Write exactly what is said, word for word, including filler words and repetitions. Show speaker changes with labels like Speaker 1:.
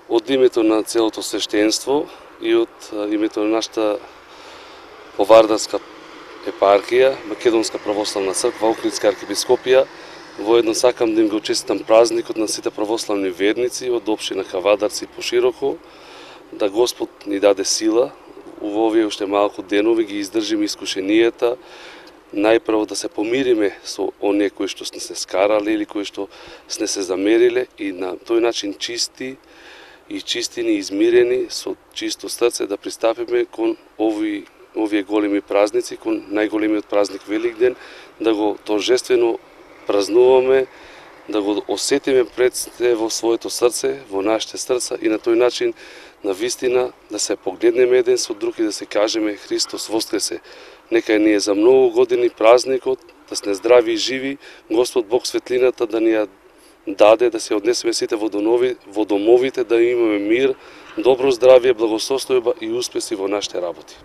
Speaker 1: Од името на целото свештенство и од името на нашата Повардарска епархија, Македонска православна црква, Охридска архиепископија, воедно сакам да им го честитам празникот на сите православни верници од општина Кавадарци и пошироко, да Господ ни даде сила во овие уште малку денови ги издржиме искушенијата, најпрво да се помириме со оние кои што сме се скарале или кои што сме се замериле и на тој начин чисти и чистини, измирени, со чисто срце да пристапиме кон овие, овие големи празници, кон најголемиот празник Великден, да го торжествено празнуваме, да го осетиме пред се во своето срце, во нашите срца и на тој начин на вистина да се погледнеме еден со друг и да се кажеме Христос воскресе. Нека ни е за многу години празникот, да сме здрави и живи, Господ Бог светлината да ни ја даде, да се однесеме сите во, донови, во домовите, да имаме мир, добро здравје, благосостојба и успеси во нашите работи.